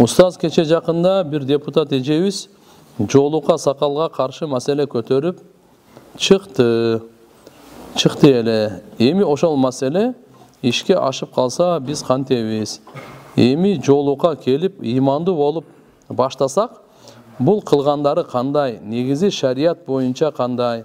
Устаз кече жакында бир депутат эжебиз жоолукка сакалга каршы маселе көтөрүп чыкты эле. Эми ошол маселе ишке ашып калса биз кантебиз? Эми жоолукка келип ыймандуу болуп баштасак, бул кылгандары кандай? Негизи шарият боюнча кандай?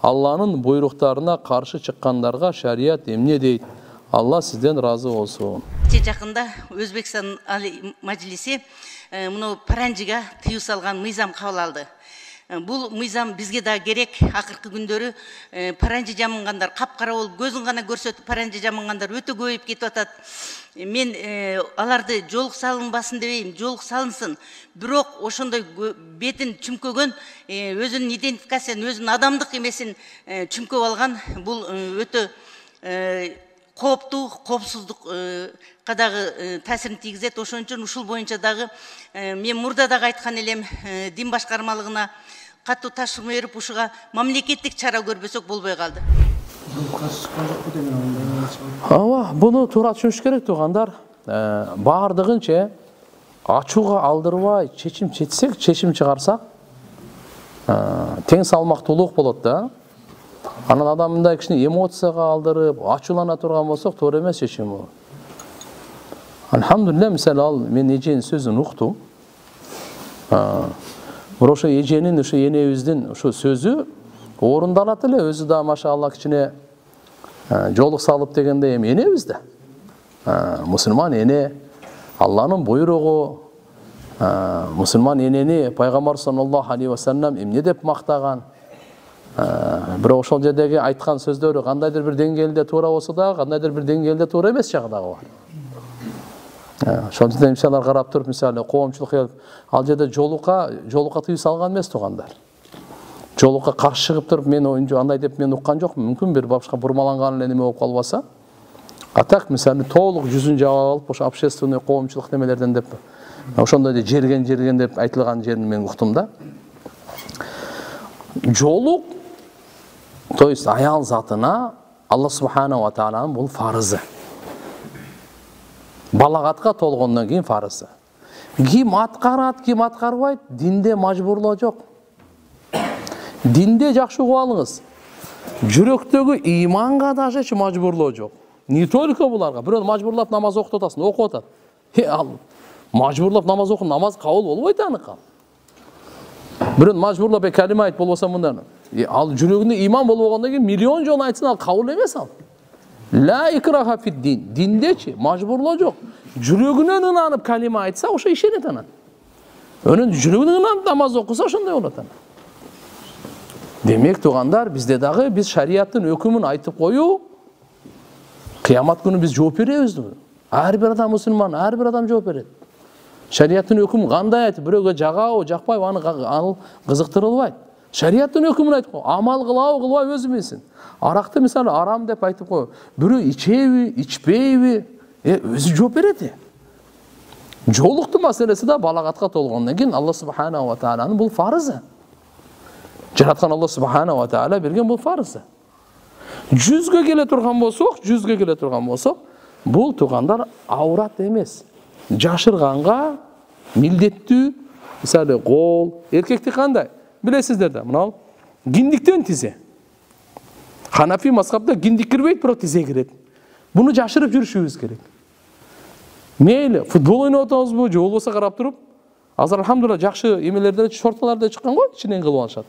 Алланын буйруктарына каршы чыккандарга шарият эмне дейт? Алла сизден разы болсун. Жакында Өзбекстан Али Мажлиси муну паранжига тыюу салган мыйзам кабыл алды. Бул мыйзам бизге да керек. Акыркы күндөрү паранжи жамынгандар, капкара болуп көзүн гана көрсөтүп паранжи жамынгандар өтө көбөйүп кетип атат. Мен аларды жоолук салынбасын дебейм, жоолук салынсын. Бирок ошондой бетин чүмкөгөн, өзүнүн идентификациясын, өзүнүн адамдык эмесин чүмкөп алган бул өтө кооптуу, коопсуздукка дагы таасирин тийгизет. Ошон үчүн ушул боюнча дагы мен мурда дагы айткан элем, дин башкармалыгына катуу тапшырма берип, ушуга мамлекеттик чара көрбөсөк болбой калды. Ооба, буну туура түшүнүш керек туугандар. Баардыгынча ачууга алдырбай чечим чыгарсак, тең салмактуулук болот да. Анан адам мындай кичине эмоцияга алдырып, ачуулана турган болсок, туура эмес чечим бул. Алхамдулилля, мисалы ал мен эженин сөзүн уктум. Бирок ошо эженин, ошо энебиздин ошо сөзү орундалат эле. Өзү да машалла кичине жоолук салып дегенде эми энебиз да. Мусулман эне, Алланын буйругу, мусулман энени пайгамбар саллаллаху алейхи ва саллям эмне деп мактаган. Бирок ошол жердеги айткан сөздөрү кандайдыр бир деңгээлде туура болсо да, кандайдыр бир деңгээлде туура эмес жагы дагы бар. Ошол жерде мисалдар карап туруп, мисалы коомчулук ал жерде жоолукка тыюу салган эмес туугандар. Жоолукка каршы чыгып туруп, мен андай деп мен уккан жокмун. Мүмкүн бир башка бурмаланган эле неме болуп калбаса. А так мисалы толук жүзүн жаап алып, ошо общественный коомчулук немелерден деп ошондой да жерген деп айтылган жерин мен уктум да. Жоолук, то есть аял затына Алла субханаху ва тааланын бул фарызы. Балагатка толгондон кийин фарызы. Ким аткарат, ким аткарбайт, динде мажбурлоо жок. Динде жакшы угуп алыңыз. Жүрөктөгү ыйманга даже мажбурлоо жок. Не только буларга. Бирөө мажбурлап намаз окутуп атасың, окуп атат. Ал мажбурлап намаз окуп, намаз кабыл болбойт аныкы. Бирөө мажбурлап калима айт болбосо мындан. Ал жүрөгүндө ыйман болбогондон кийин миллион жолу айтсын, ал кабыл эмес ал. Ла икраха фид дин. Диндечи мажбурлоо жок. Жүрөгүнөн ынанып калима айтса, ошо ишенет анан. Өнүн жүрөгүнөн ынанып намаз окуса, ошондой болот анан. Демек туугандар, бизде дагы биз шариаттын өкүмүн айтып коюу, кыямат күнү биз жооп беребиз. Ар бир адам мусулман, ар бир адам жооп берет. Шариаттын өкүмү кандай айтып, бирөөгө жагабы, жакпайбы, аны кызыктырылбайт. Шариаттын өкүмүн айтып кой, амал кылабы, кылбайбы өзү билсин. Аракты мисалы арам деп айтып кой, бирөө ичеби, ичпейби, өзү жооп берет. Жоолуктун маселеси да балагатка толгондон кийин Алла субханаху ва тааланын бул фарызы. Жараткан Алла субханаху ва таала берген бул фарызы. Жүзгө келе турган болсок, бул туугандар аурат эмес. Жашырганга милдеттүү, мисалы кол, эркекти кандай? Билесиздер да, мына киндиктен тизе. Ханафи мазхабда киндик кирбейт, бирок тизе кирет. Буну жашырып жүрүшүбүз керек. Мейли, футбол ойноп атабызбы, же болбосо карап туруп, азыр алхамдулилла жакшы эмелерде, шорталарда чыккан го, ичинен кылып алышат.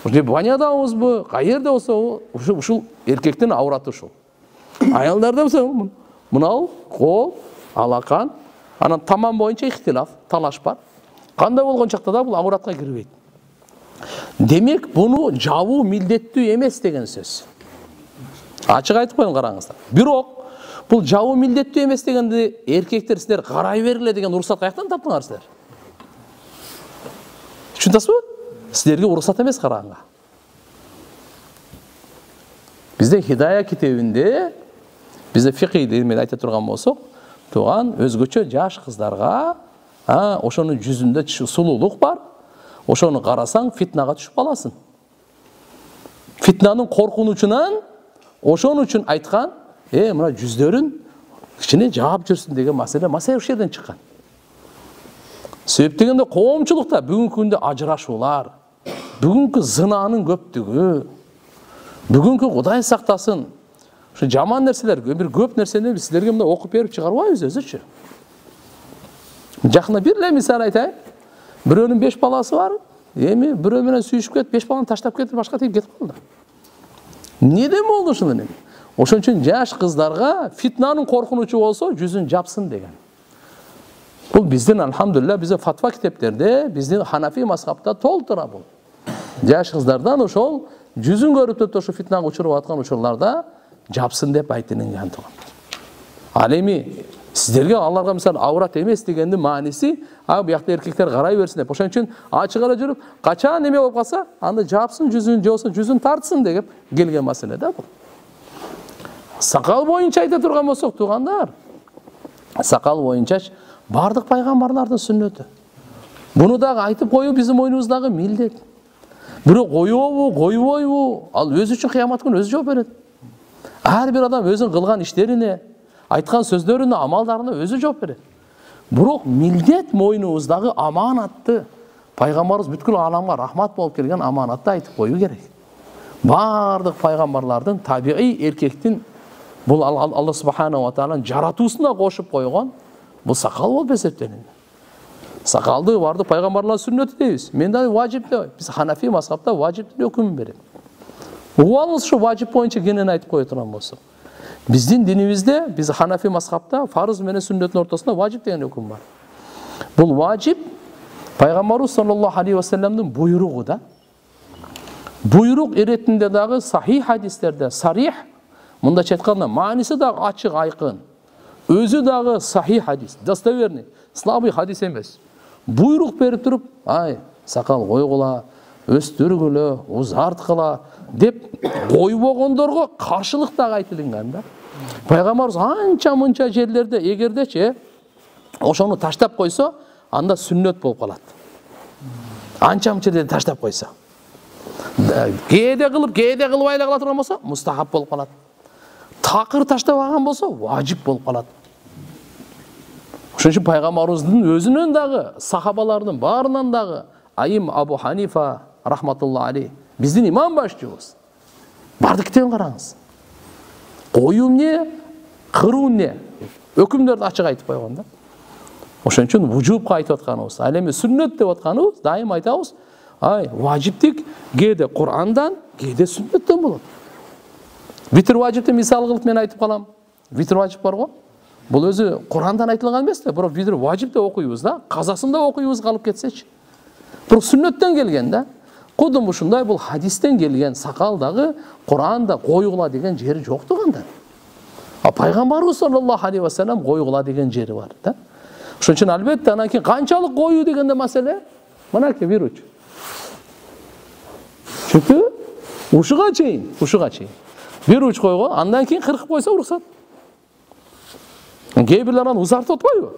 Ошо банядабызбы, каерде болсо, ушул эркектин аураты ушул. Аялдарда болсо, мына кол, алакан, анан тамам боюнча ихтилаф, талаш бар. Кандай болгон чакта да бул ауратка кирбейт. Демек, буну жабуу милдеттүү эмес деген сөз. Ачык айтып коеюн, караңыздар. Бирок, бул жабуу милдеттүү эмес дегенде эркектер силер карай бергиле деген уруксат каяктан таптыңар силер? Түшүнөсүзбү? Силерге уруксат эмес караганга. Бизде Хидая китебинде, бизде фикийде эме айта турган болсок, туган өзгөчө жаш кыздарга, ошонун жүзүндө сулуулук бар. Ошону карасаң, фитнага түшүп каласың. Фитнанын коркунучунан ошон үчүн айткан, мына жүздөрүн кичине жаап жүрсүн деген маселе ошол жерден чыккан. Себеп дегенде коомчулукта бүгүнкү күндө ажырашуулар, бүгүнкү зынаанын көптүгү, бүгүнкү Кудай сактасын, ушу жаман нерселер, бир көп нерсени силерге мындай окуп берип чыгарбайбыз өзүчү. Жакында бир эле мисал айтайын. Бирөөнүн 5 баласы бар, эми бирөө менен сүйүшүп кетип, 5 баланы таштап кетип, башка тип кетип калды. Неден болду ушунун эми? Ошон үчүн жаш кыздарга фитнанын коркунучу болсо, жүзүн жапсын деген. Бул биздин алхамдулилля бизде фатва китептерде, биздин Ханафи мазхабта толтура бул. Жаш кыздардан ошол жүзүн көрүп туруп ошо фитнага учуруп аткан учурларда жапсын деп айтылган туган. Ал эми сиздерге аларга мисалы аврат эмес дегендин мааниси, буякта эркектер карай берсин деп. Ошон үчүн ачык ара жүрүп, качан эме болуп калса, анда жапсын жүзүн, же болбосо жүзүн тартсын деп келген маселе да бул. Сакал боюнча айта турган болсок, туугандар, сакал боюнча бардык пайгамбарлардын сүннөтү. Буну дагы айтып коюу биздин мойнубуздагы милдет. Бирок коебу, койбойбу, ал өзү үчүн кыямат күнү өзү жооп берет. Ар бир адам өзүнүн кылган иштерине, айткан сөздөрүнө, амалдарына өзү жооп берет. Бирок милдет мойнубуздагы аманатты, пайгамбарыбыз бүткүл ааламга рахмат болуп келген аманатты айтып коюу керек. Бардык пайгамбарлардын табигый эркектин бул Алла субханаху ва тааlanын жаратуусуна кошуп койгон бул сакал болуп эсептелинет. Сакалды бардык пайгамбарлардын сүннөтү дейбиз. Мен да важип деп. Биз Ханафи мазхабта важиптин өкүмүн берет. Угуп алыңыз, ушу важип боюнча кенен айтып кое турган болсок. Биздин динибизде, биз Ханафи мазхабта фарыз менен сүннөттүн ортосунда важип деген өкүм бар. Бул важип пайгамбарыбыз саллаллаху алейхи ва салламдын буйругу да. Буйрук иретинде дагы сахих хадистерде сарих, мындайча айтканда мааниси дагы ачык, айкын. Өзү дагы сахих хадис, достоверный, слабый хадис эмес. Буйрук берип туруп, сакал койгула, өстүргүлө, узарткыла деп койбогондорго каршылык дагы айтылган да. Пайгамбарыбыз анча-мынча жерлерде эгердечи ошону таштап койсо, анда сүннөт болуп калат. Анча-мынча жерде таштап койсо. Кээде кылбай эле кала турган болсо, мустахаб болуп калат. Такыр таштабаган болсо, важип болуп калат. Ошон үчүн пайгамбарыбыздын өзүнөн дагы, сахабалардын баарынан дагы Айым Абу Ханифа рахматулла алейх, биздин имам башчыбыз. Бардык китебин караңыз. Коюу эмне, кыруу эмне? Өкүмдөрдү ачык айтып койгон да. Ошон үчүн вужубка айтып атканыбыз, ал эми сүннөт деп атканыбыз, дайым айтабыз, важиптик кээде Курандан, кээде сүннөттөн болот. Витр важипти мисал кылып мен айтып калам. Витр важип бар го. Бул өзү Курандан айтылган эмес да, бирок витр важип деп окуйбуз да. Казасында окуйбуз калып кетсечи. Бирок сүннөттөн келген да. Кудум ушундай бул хадистен келген сакал дагы Куранда койгула деген жери жок туганда. Пайгамбарыбыз саллаллаху алейхи ва саллям койгула деген жери бар да. Ошон үчүн албетте анан кийин канчалык коюу дегенде маселе, мынакей бир уч. Чүнкү ушуга чейин. Бир уч койго, андан кийин кыркып койсо уруксат. Кээ бирлер аны узартып атпайбы?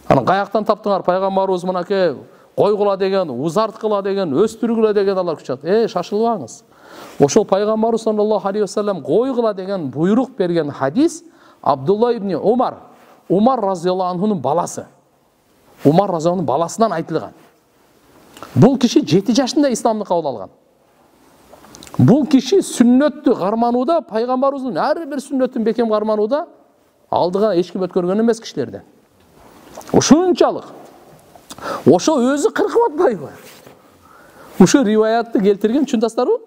Анан каяктан таптыңар пайгамбарыбыз мынакей койгула деген, узарткыла деген, өстүргүлө деген алар күчат. Шашылбаңыз. Ошол пайгамбарыбыз саллаллаху алейхи ва саллям койгула деген буйрук берген хадис Абдулла ибн Умар разияллаху анхунун баласы. Умар разияллаху анхунун баласынан айтылган. Бул киши 7 жашында исламды кабыл алган. Бул киши сүннөттү карманууда, пайгамбарыбыздын ар бир сүннөтүн бекем карманууда алдыга эч ким өткөргөн эмес кишилерден. Ушунчалык. Ошо өзү кыркып атпайбы? Ушу риваятты келтирген чындастарбы?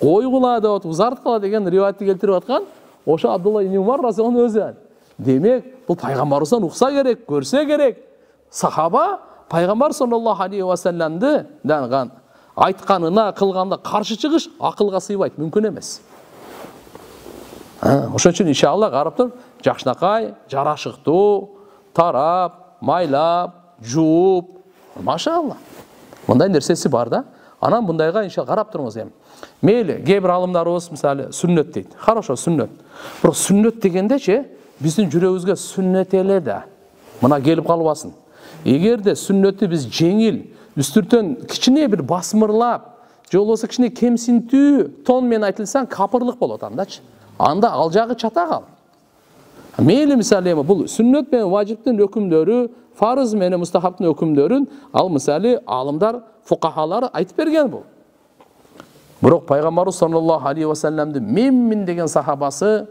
Койгула деп, узарткыла деген риваятты келтирип аткан ошо Абдулла ибн Умар разияллаху өзү. Демек, бул пайгамбарыбыздан укса керек, көрсө керек. Сахаба пайгамбар саллаллаху алейхи ва салламды дагы айтканына, кылганда каршы чыгыш акылга сыйбайт, мүмкүн эмес. Ошон үчүн иншалла карап туруп, жакшынакай, жарашыктуу, тарап, майлап, жууп, машалла. Мындай нерсеси бар да. Анан мындайга иншалла карап туруңуз эми. Мейли, кээ бир алымдарыбыз мисалы сүннөт дейт. Хорошо, сүннөт. Бирок сүннөт дегендечи биздин жүрөгүбүзгө сүннөт эле да. Мына келип калбасын. Эгерде сүннөтү биз жеңил, үстүртөн кичине бир басмырлап, же болбосо кичине кемсинтүү тон менен айтылса, капырлык болот андачы. Анда ал жагы чатагал. Мейли мисалы эми бул сүннөт менен важиптин өкүмдөрү фарыз менен мустахабтын өкүмдөрүн ал мисалы алымдар, фукахалар айтып берген бул. Бирок пайгамбарыбыз саллаллаху алейхи ва салламдын мин деген сахабасы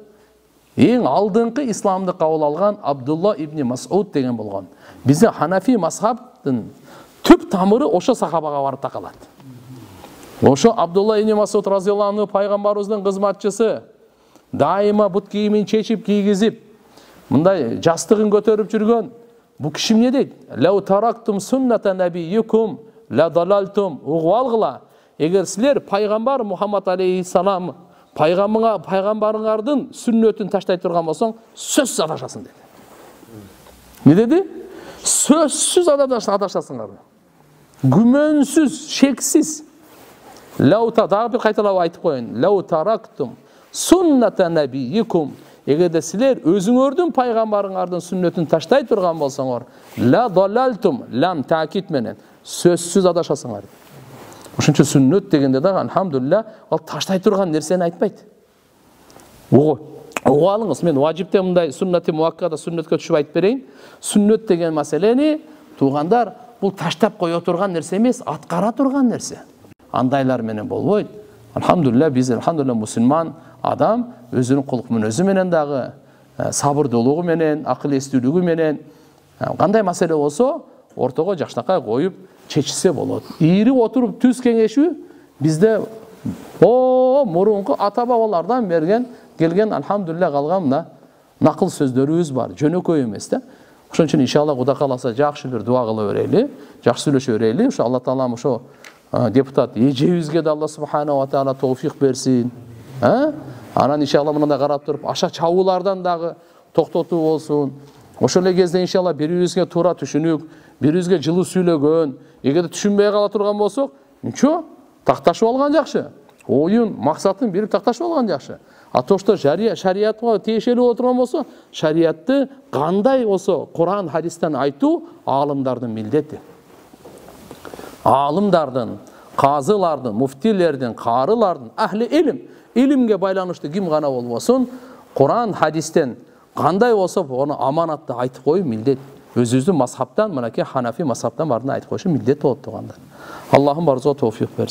эң алдыңкы исламды кабыл алган Абдулла ибн Мас'уд деген болгон. Биздин Ханафи мазхабтын түп тамыры ошо сахабага барып такалат. Ошо Абдулла ибн Мас'уд разияллаху анху пайгамбарыбыздын кызматчысы дайыма бут кийимин чечип кийгизип, мындай жастыгын көтөрүп жүргөн. Бу киши эмне дейт? Лау тарактум сунната набийюкум ла далалтум. Угуп алгыла. Эгер силер пайгамбар Мухаммад алейхиссалам пайгамбарыңардын сүннөтүн таштай турган болсоң, сөзсүз адашасың деди. Не деди? Сөзсүз адашасыңар. Күмөнсүз, шексиз. Дагы бир кайталап айтып коеюн. Лау тарактум сунната набийюкум. Эгерде силер өзүңөрдүн пайгамбарыңардын сүннөтүн таштай турган болсоңор, ла далалтум, лам таакид менен сөзсүз адашасыңар. Ошон үчүн сүннөт дегенде дагы алхамдулилля ал таштай турган нерсени айтпайт. Угуп алыңыз, мен важипте мындай суннати муаккада сүннөткө түшүп айтып берейин. Сүннөт деген маселени туугандар бул таштап кое турган нерсе эмес, аткара турган нерсе. Андайлар менен болбойт. Алхамдулилля биз мусулман адам өзүнүн кулк мүнөзү менен дагы сабырдуулугу менен, акыл эстүүлүгү менен кандай маселе болсо ортого жакшынакай коюп чечилсе болот. Ийрип отуруп түз кеңешүү бизде мурунку ата бабалардан келген алхамдулилля калган мына накыл сөздөрүбүз бар, жөнөкөй эмес да. Ошон үчүн иншалла Кудай кааласа жакшы бир дуа кыла берели, жакшы сүйлөшө берели. Ошо Алла таалам ошо депутат эжебизге да Алла субхана ва таала товфик берсин. Анан иншалла мындай карап туруп аша чабуулардан дагы токтотуу болсун. Ошол эле кезде иншалла бири-бирибизге туура түшүнүк, бири-бирибизге жылуу сүйлөгөн, эгерде түшүнбөй кала турган болсок, ничо, такташып алган жакшы. Оюн, максатын бирип такташып алган жакшы. Атошто шариятка тиешелүү боло турган болсо, шариятты кандай болсо Куран, хадистен айтуу аалымдардын милдети. Аалымдардын, казылардын, муфтилердин, карылардын, ахли илимге байланыштуу ким гана болбосун, Куран, хадистен кандай болсо ону аманатты айтып коюу милдет. Өзүбүздүн мазхабтан, мынакей Ханафи мазхабтан бардын айтып коюшу милдет болот туугандар. Аллахым барыбызга товфик берсин.